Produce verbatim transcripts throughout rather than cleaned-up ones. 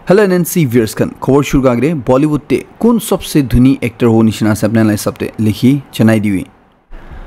Hello N N C viewers khan, khobor shuru kagre Bollywood te kun sabse dhuni actor ho nishina ase apna lai sabte likhi chanai diwi.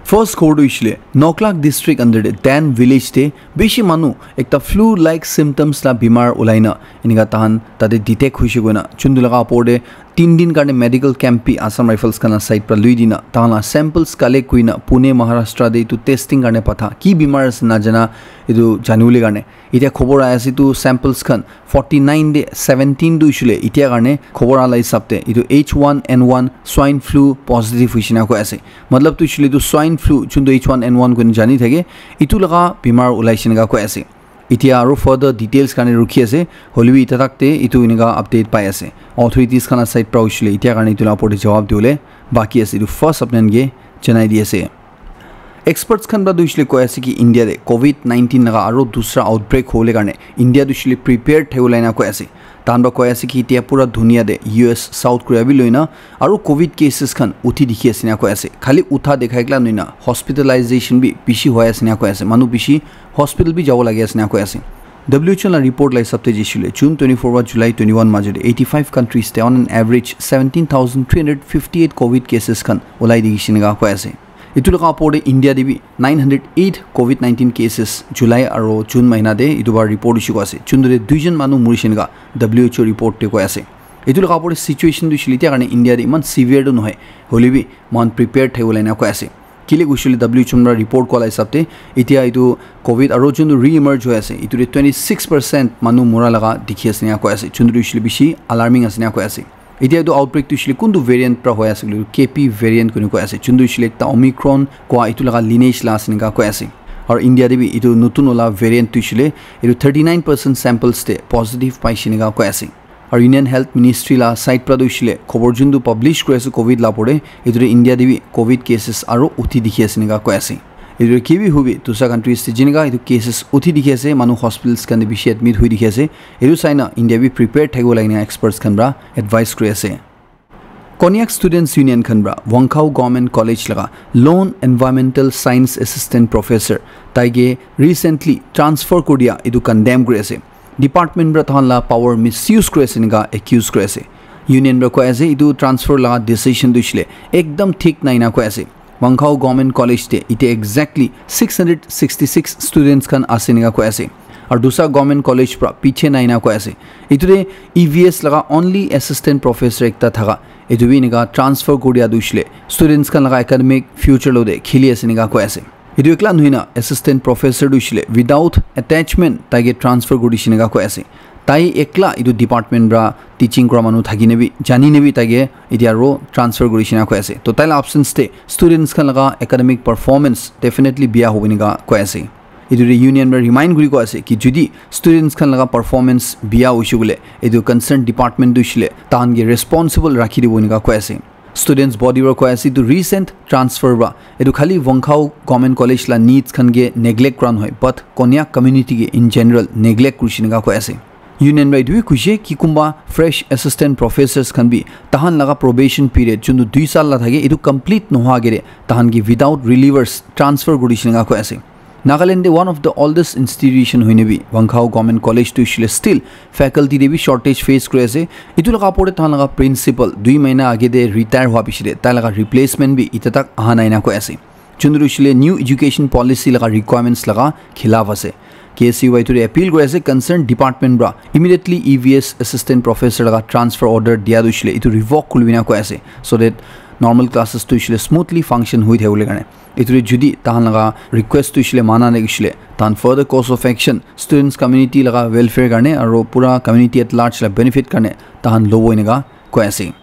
First khobor tu ishile Noklak district under de Dan village te bishi manu ekta flu like symptoms la bimar ulaina inika tahan tate detect hoishe koina chundu laga apor de tin din karne medical camp bi Assam Rifles khan la side pra lui dina tahan la samples collect kuina Pune Maharashtra de itu testing karne patha ki bimar ase na jana itu janibole karne. Itia khobor ahi ase tu samples khan forty nine de seventeen tu ishile itia karne khobor ala hisab te itu H one N one swine flu positive hoishina koi ase. Matlab tu ishile tu swine flu chundu H one N one koina jani thake itu laga bimar ulaishe naka koi ase. Itia aru further details karne rukhi ase, hoilebi ita tak te itu inika update pai ase. Authorities khan la side pra ishile itia karne itu la opor te jawab diwole baki ase, itu first apnan ke janai di ase. Experts khan pra tu ishile koi ase ki India de covid nineteen laga aru dusra outbreak hole karne India tu ishile prepared thaibo laina koi ase. Tahan pra koi ase ki itia pura dunia de U S South Korea bi loina aru covid cases khan uthi dikhi ase na koi ase. Khali utha dekhai kla noina hospitalization bi bishi hoi ase na koi ase. Manu bishi hospital bi jabo lagi ase na koi ase. W H O la report la hisab te jishile June twenty four wa July twenty one majo de eighty five countries te on an average seventeen thousand three hundred fifty eight covid cases khan ulai dikhi shina koi ase. Itu laga opor te India te bi nine hundred eight covid nineteen cases July aro June mahina te itu bar report issue ase. Chundu te duijon manu murishe naka W H O report te koi ase. Itu laga opor te situation tu ishile itia karne India te iman severe tu nohoi. Hoilebi man prepared thaibo laina koi ase. Kile kuishile W H O pra report kola hisab te itia itu covid aro chundu re-emerge hoi ase. Itu te twenty six percent manu mura laga dikhi ase na koi ase. Chundu ishile bishi alarming ase na koi ase. Itia itu outbreak tu ishile kuntu variant pra hoi ase koile K P variant kuni koi ase. Chuntu ishile ekta Omicron koa itu laga lineage la ase nika koi ase. Aru India te bi itu nutun wala variant tu ishile itu thirty nine percent samples te positive paishe nika koi ase. Aru Union Health Ministry la side pra tu ishile khobor juntu publish kuri ase covid la opor te itu te India te bi covid cases aru uthi dikhi ase nika koi ase. Itu ke bi hobi dusra countries te jinika itu cases uthi dikhi ase, manu hospitals khan te bishi admit hui dikhi ase. Itu saina India bi prepared thakibo lagina experts khan pra advice kuri ase. Konyak Students Union khan pra Wangkhao Government College laga lone environmental science assistant professor taige recently transfer kuri dia itu condemn kuri ase. Department pra tahan la power misuse kuri ase nika accuse kuri ase. Union pra koi ase itu transfer laga decision tu ishile ekdam thik nai na koi ase. Wangkhao Government College te ite exactly six hundred sixty six students khan ase nika koi ase. Aru dusra government college pra piche nai na koi ase. Itu te E V S laga only assistant professor ekta thaka itu bi nika transfer kuri dia tu ishile students khan laga academic future lo de khili ase nika koi ase. Itu ekla nohoi na assistant professor tu ishile without attachment taige transfer kuri dishe nika koi ase. Tai ekla itu department pra teaching kura manu thaki na bi jani na bi taige itia aro transfer kuri dishe na koi ase. To tai la absence te students khan laga academic performance definitely biya hobo nika koi ase. Itu te union pra remind kuri koi ase ki judi students khan laga performance biya hoishe koile itu concerned department tu ishile tahan ke responsible rakhi dibo nika koi ase. Students body pra koi ase itu recent transfer pra itu khali Wangkhao Government College la needs khan ke neglect kura nohoi but Konyak community ke in general neglect kurishe nika koi ase. Union pra itu bi kuishe ki kumba fresh assistant professors khan bi tahan laga probation period juntu dui sal la thake itu complete nohwa agere tahan ke without relievers transfer kurishe nika koi ase. Nagaland te one of the oldest institution hoine bi Wangkhao Government College tu ishile still faculty te bi shortage face kuri ase. Itu laga opor te tahan laga principal dui mahina age te retire hwa piche te tai laga replacement bi ita tak aha nai na koi ase. Juntu ishile new education policy laga requirements laga khilaf ase. K S U Y tu appeal kuri ase concerned department pra immediately E V S assistant professor laga transfer order dia tu ishile itu revoke kuri na koi ase so that normal classes tu ishile smoothly function hui thakibole karne. Itu te judi tahan laga request tu ishile mana nai ishile tahan further course of action students community laga welfare karne aru pura community at large la benefit karne tahan lobo enika koi ase.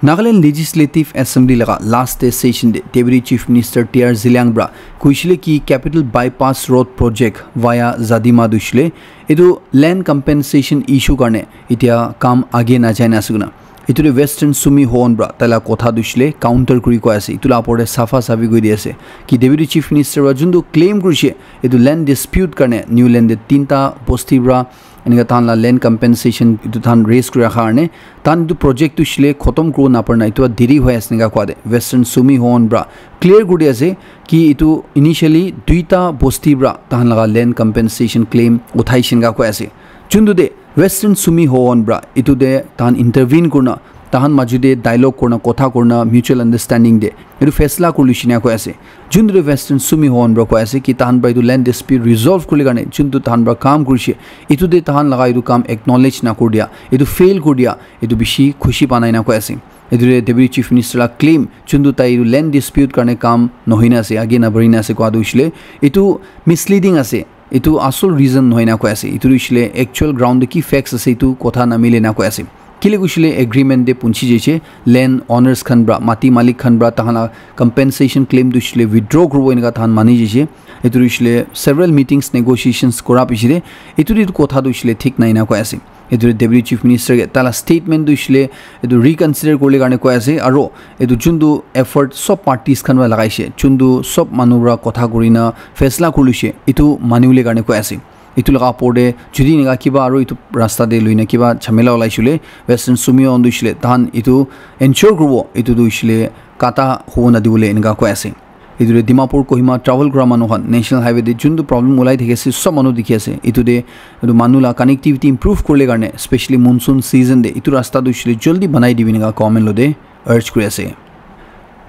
Nagaland Legislative Assembly laga last day session te Deputy Chief Minister T R Zeliang pra kuishile ki Capital Bypass Road Project via Zadima tu ishile itu land compensation issue karne itia kam age na jai na ase koina. Itu te Western Sumi Hon pra taila kotha tu ishile counter kuri koi ase. Itu la opor te safa safi kuri di ase ki Deputy Chief Minister pra juntu claim kurishe itu land dispute karne New Land te tinta bosti pra enika tahan la land compensation itu tahan raise kuri rakha karne tahan itu project tu ishile khotom kuribo napara na itu deri hoi ase enika koi de Western Sumi Hon pra clear kuri di ase ki itu initially duita bosti pra tahan laga land compensation claim uthai shenga koi ase. Juntu te Western Sumi Hohon pra etu te tahan intervene kurna, tahan maju te dialogue kurna, kotha kurna, mutual understanding te etu faisla kuri lushi na koi ase. Juntu Western Sumi Hohon pra koi ase ki tahan pra etu land dispute resolve kurle karne juntu tahan pra kam kurishe, etu te tahan laga etu kam acknowledge na kur dia, etu fail kur dia, etu bishi khushi pa nai na koi ase. Etu te Deputy Chief Minister la claim, juntu tai etu land dispute karne kam nohoi na ase, age na bari na ase koi tu hoishe le, etu misleading ase. Etu asol reason nohoi na koi ase. Etu tu hoishe le actual ground te ki facts ase, etu kotha na mile na koi ase. Kile hoishe le agreement te punchi jaise, land owners khan pra, mati malik khan pra, tahan la compensation claim tu hoishe le withdraw kuribo enika tahan mani jaise. Etu tu hoishe le several meetings, negotiations kura piche te, etu tu kotha tu hoishe le thik nai na koi ase. Etu Deputy Chief Minister ke tala statement tu hoishe le etu reconsider kurle karne koi ase, aro etu juntu effort sob parties khan pra lagaishe, juntu sob manu pra kotha kurina faisla kuri luishe, etu manibole karne koi ase. Etu laga opor te jodi enika kiba aro etu rasta te loina kiba jhamela olai shile, Western Sumi Hohon tu hoishe le tahan etu ensure kuribo, etu tu hoishe le kata hobo nadibole enika koi ase. Etu te Dimapur Kohima travel kura manu khan National Highway te juntu problem ulai thaki ase, sob manu dikhi ase. Etu te etu manu la connectivity improve kurle karne, specially monsoon season te etu rasta tu hoishe le jaldi banai dibi enika government lo te urge kuri ase.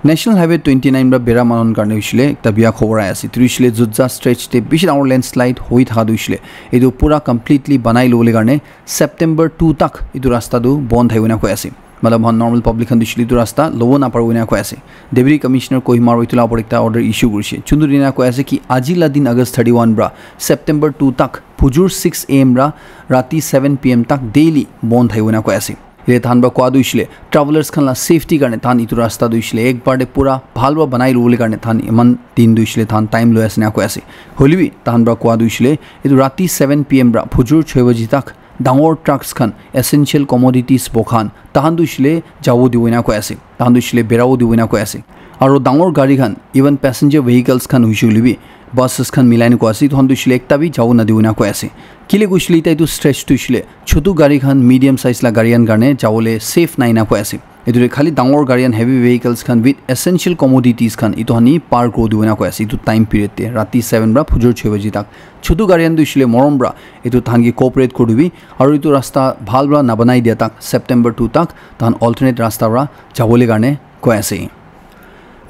National Highway twenty nine pra bera manu khan karne hoishe le ekta bia khobor ahi ase. Etu hoishe le Jutja stretch te bishi dangor landslide hoi thaka tu hoishe le etu pura completely banai lobole karne September two tak etu rasta tu bon thai koi na koi ase. Matlab, moikhan normal public khan tu hoishe le etu rasta lobo naparibo ena koi ase. Deputy Commissioner Kohima aro etu la opor ekta order issue kurishe. Juntu dina koi ase ki aji la din August thirty one pra September two tak phujur six a m pra rati seven p m tak daily bon thai koi na koi ase. Yate tahan pra koa tu hoishe le travelers khan la safety karne tahan etu rasta tu hoishe le ek bar te pura bhal pra banai lobole karne tahan eman din tu hoishe le tahan time loi ase ena koi ase. Hoile bi tahan pra koa tu hoishe le etu rati seven p m pra phujur choi baji tak dangor trucks khan, essential commodities bo khan, tahan tu hoishe le jabo dibo ena koi ase, tahan tu hoishe le berabo dibo ena koi ase. Aro dangor gari khan, even passenger vehicles khan hoishe hoile bi, buses khan milai na koi ase, etu khan tu hoishe le ekta bi jabo nadibo ena koi ase. Kile koishe le etia etu stretch tu hoishe le chotu gari khan, medium size la gari khan karne jabole safe nai ena koi ase. Etu te khali dangor gari khan, heavy vehicles khan with essential commodities khan etu khan hi par kuri dibo ena koi ase etu time period te, rati seven pra phujur choi baji tak. Chotu gari khan tu hoishe le morom pra etu tahan ke cooperate kuri dibi, aro etu rasta bhal pra nabanai dia tak September two tak tahan alternate rasta pra jabole karne koi ase.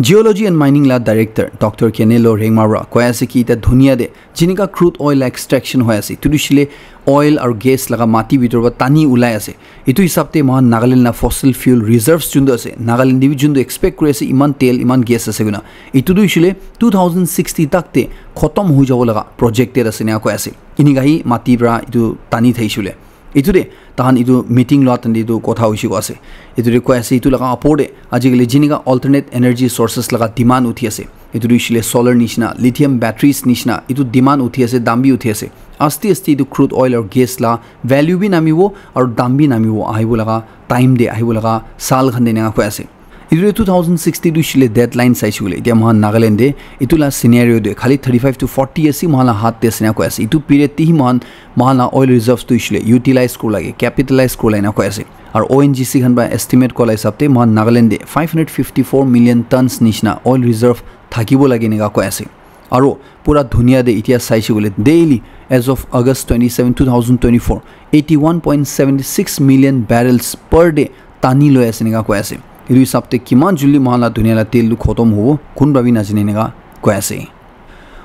Geology and Mining la director Doctor Kenelo Rengma pra koi ase ki etia dunia te jinika crude oil extraction hoi ase, etu tu hoishe le oil aro gas laga mati bitor pra tani ulai ase. Etu hisab te moikhan Nagaland la fossil fuel reserves juntu ase, Nagaland te bi juntu expect kuri ase iman tel, iman gas ase koina, etu tu hoishe le two thousand sixty tak te khotom hoi jabo laga projected ase ena koi ase. Enika hi mati pra etu tani thaishe hoile. Etu te tahan etu meeting lua time te etu kotha hoishe koi ase. Etu te koi ase etu laga opor te ajikali jinika alternate energy sources laga demand uthi ase. Etu tu hoishe le solar nishina, lithium batteries nishina, etu demand uthi ase, dam bi uthi ase. Aste aste etu crude oil aro gas la value bi namibo aro dam bi namibo ahibo laga time te, ahibo laga saal khan te ena koi ase. Etu te two thousand sixty tu hoishe le deadline saishe koile, etia moikhan Nagaland te etu la scenario te khali thirty five to forty ase moikhan la hath te ase ena koi ase. Etu period te hi moikhan, moikhan la oil reserves tu hoishe le utilize kuri lage, capitalize kuri la ena koi ase. Aro O N G C khan pra estimate kura la hisab te moikhan Nagaland te five hundred fifty four million tons nishina oil reserve thakibo lage enika koi ase. Aro pura dunia te etia saishe koile daily, as of August twenty seven, two thousand twenty four, eighty one point seventy six million barrels per day tani loi ase enika koi ase. Etu hisab te kiman jaldi moikhan la dunia la tel tu khotom hobo, kun pra bi najane enika koi ase.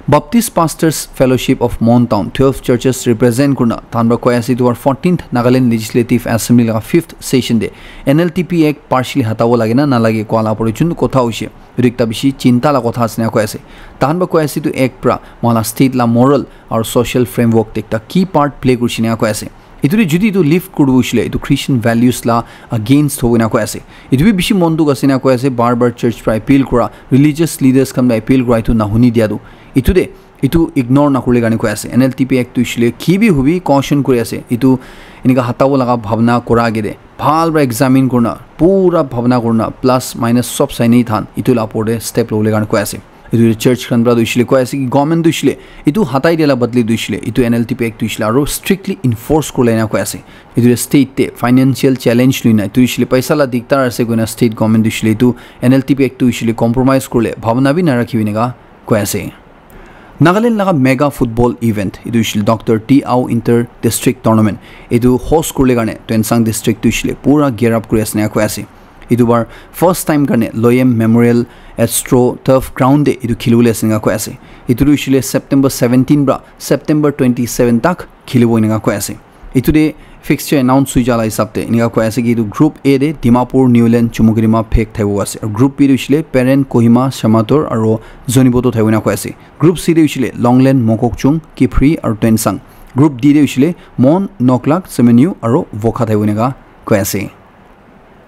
Baptist Pastors Fellowship of Mon Town, twelve churches represent kurina tahan pra koi ase etu fourteenth Nagaland Legislative Assembly laga fifth session te N L T P Act partially hatabo lage na nalage koa la opor te juntu kotha hoishe, etu ekta bishi chinta la kotha ase ena koi ase. Tahan pra koi ase etu act pra moikhan la state la moral aro social framework te ekta key part play kurishe ena koi ase. Etu te jodi etu lift kuribo hoishe le, etu Christian values la against hobo ena koi ase. Etu bi bishi mon dukh ase ena koi ase, bar bar church pra appeal kura, religious leaders khan pra appeal kura, etu nahuni dia tu. Etu te, etu ignore nakurle karne koi ase. N L T P Act tu hoishe le ki bi hobi caution kuri ase. Etu enika hatabo laga bhabna kura age te bhal pra examine kurina, pura bhabna kurina, plus minus sob saini than, etu la opor te step lobole karne koi ase. Etu church khan pra tu hoishe le koi ase ki government tu hoishe le etu hatai dia la badli tu hoishe le etu N L T P Act tu hoishe le aro strictly enforce kurle ena koi ase. Etu state te financial challenge luina etu hoishe le paisa la diktar ase koina state government tu hoishe le etu N L T P Act tu hoishe le compromise kurle bhabna bi narakhibi enika koi ase. Nagaland laga mega football event, etu hoishile Doctor T Ao Inter District Tournament, etu host kurle karne Tuensang District tu hoishile pura gear up kuri ase ena koi ase. Etu bar first time karne Loyem Memorial Astro Turf Ground te etu khilibole ase ena koi ase. Etu tu hoishile September seventeen pra September twenty-seven tak khilibo ena koi ase. Etu te fixture announce hoi jala hisab te enika koi ase ki etu group A te Dimapur, Niuland, Chumukedima, Phek thaibo ase. Aru group B te hoishile Peren, Kohima, Shamator aru Zunheboto thaibo ena koi ase. Group C te hoishile Longland, Mokokchung, Kiphire aru Tuensang. Group D te hoishile Mon, Noklak, Semenyu aru Wokha thaibo ena koi ase.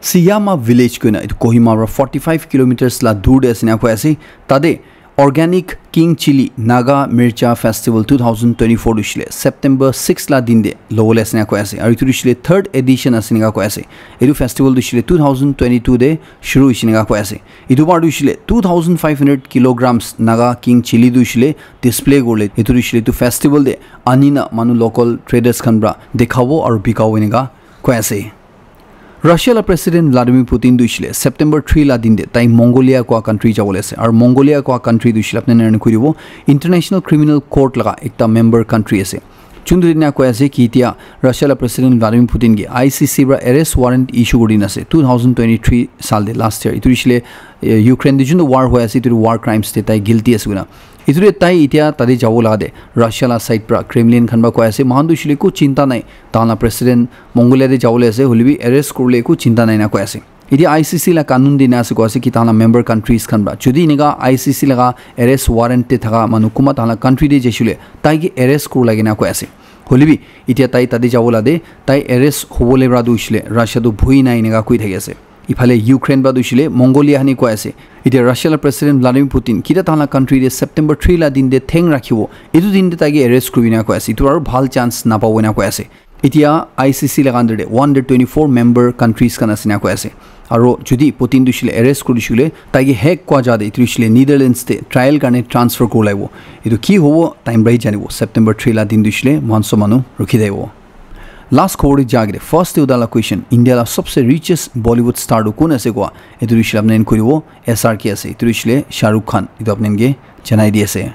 Siyama village koina etu Kohima para forty-five kilometers la dur te ase ena koi ase. Tate Organic King Chilli Naga Mircha Festival two thousand twenty-four tu hoishile September six la din te lobole ase ena koi ase. Aru etu tu hoishile third edition ase ena koi ase. Etu festival tu hoishile two thousand twenty-two te shuru hoise ena koi ase. Etu bar tu hoishile two thousand five hundred kilograms Naga King Chilli tu hoishile display kurle. Etu tu hoishile etu festival te ani na manu local traders khan para dikhabo aru bikabo ena koi ase. Russia la President Vladimir Putin tu hoishile September three la din te tai Mongolia koa country jabole ase. Aru Mongolia koa country tu hoishile apni khan koi dibo International Criminal Court laga ekta member country ase. Chuntu dina koi ase ki etia Russia la President Vladimir Putin ke I C C para arrest warrant issue kuri dina ase two thousand twenty-three sal te last year. Etu hoishile, eh, Ukraine te juntu war hoi ase etu war crimes te tai guilty ase koina. Etu te tai etia tate jabo laga te Russia la side para Kremlin khan para koi ase moikhan tu hoishile eku chinta nai. Tahan la president Mongolia te jabole ase hoile bi arrest kurle eku chinta nai na koi ase. Etia I C C la kanun te na ase koi ase ki tahan la member countries khan para jodi enika I C C laga arrest warrant te thaka manu kunba tahan la country te jaishe hoile tai ke arrest kurila kena koi ase. Hoile bi etia tai tate jabole te tai arrest hobole para tu hoishile Russia tu bhui nai enika koi thaki ase. Iphale Ukraine para tu hoishile Mongolia hani koi ase. Etia Russia la President Vladimir Putin kita tahan la country te September three la din te theng rakhibo. Etu din te tai ke arrest kuribi na koi ase. Etu aru bhal chance napabo ena koi ase. Etia I C C laga under te one hundred twenty-four member countries khan ase ena koi ase. Aru jodi Putin tu hoishile arrest kuri dishile tai ke Hague koa jaga te etu hoishile Netherlands te trial karne transfer kuri laibo. Etu ki hobo time para hi janibo. September three la din tu hoishile moikhan sob manu rukhi thaibo. Last khobor te jagire first te uda la question India la sabse richest Bollywood star tu kun ase koa etu hoishile apni khan koi dibo S R K ase etu hoishile Shah Rukh Khan etu apni khan ke janai di ase.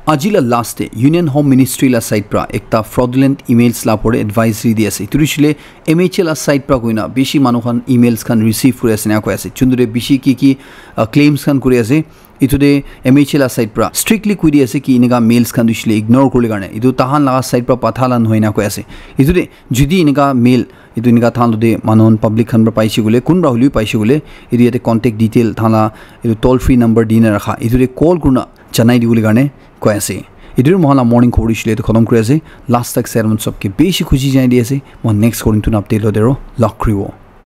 Aji la last te Union Home Ministry la side pra ekta fraudulent emails la opor te advisory di ase. Etu hoishile M H A la side pra koina bishi manu khan emails khan receive kuri ase ena koi ase. Chuntu te bishi ki ki, uh, claims khan kuri ase. Etu te M H A la side pra strictly koi di ase ki enika mails khan tu hoishile ignore kurle karne. Etu tahan laga side pra patha la nohoi na koi ase. Etu te jodi enika mail, etu enika tahan lo te manu khan public khan pra paishe koile, kun pra hoile bi paishe koile, etu yate contact detail tahan la etu toll free number di na rakha. Etu te call kurina janai dibole karne koi ase. Etu moikhan la morning khobor hoishile etu khatam kuri ase. Last tak sai manu sob ke bishi khushi janai di ase. Moikhan next khobor tu update lo dero log kuribo.